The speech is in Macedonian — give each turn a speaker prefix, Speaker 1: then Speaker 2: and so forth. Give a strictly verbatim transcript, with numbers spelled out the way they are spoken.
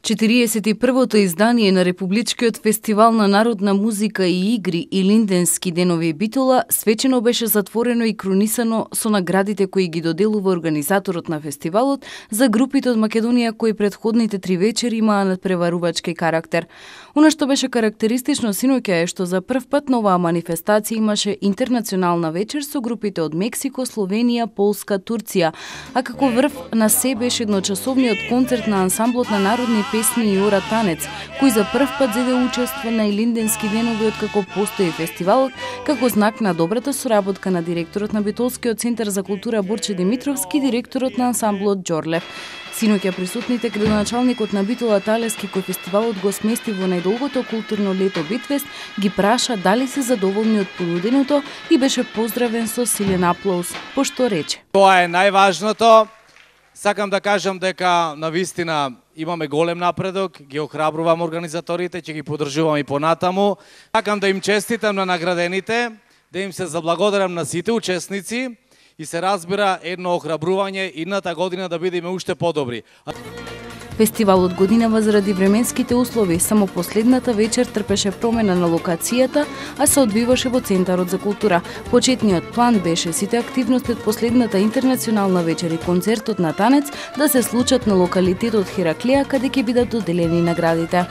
Speaker 1: четириесет и првото издание на Републичкиот фестивал на народна музика и игри и Линденски денови Битола свечено беше затворено и кронисано со наградите кои ги доделува организаторот на фестивалот за групите од Македонија кои претходните три вечери имаа надпреварувачки карактер. Она што беше карактеристично синоќа е што за прв пат на оваа манифестација имаше интернационална вечер со групите од Мексико, Словенија, Полска, Турција, а како врв на се беше едночасовниот концерт на ансамблот на народни песни и ора танец, кој за прв пат зеде учество на Илинденски денови откако постои фестивалот, како знак на добрата соработка на директорот на Битолскиот центар за култура Борче Димитровски и директорот на ансамблот Џорлев. Синоќа присутните градоначалникот на Битола Талески кој фестивалот го смести во најдолгото културно лето Битфест ги праша дали се задоволни од понуденото и беше поздравен со силен аплауз, пошто рече:
Speaker 2: Тоа е најважното. Сакам да кажам дека навистина имаме голем напредок, ги охрабрувам организаторите, ќе ги поддржувам и понатаму. Сакам да им честитам на наградените, да им се заблагодарам на сите учесници и се разбира едно охрабрување идната година да бидеме уште подобри.
Speaker 1: Фестивалот годинава заради временските услови, само последната вечер трпеше промена на локацијата, а се одвиваше во Центарот за култура. Почетниот план беше сите активности од последната интернационална вечер и концертот на танец да се случат на локалитетот Хераклеја, каде ќе бидат доделени наградите.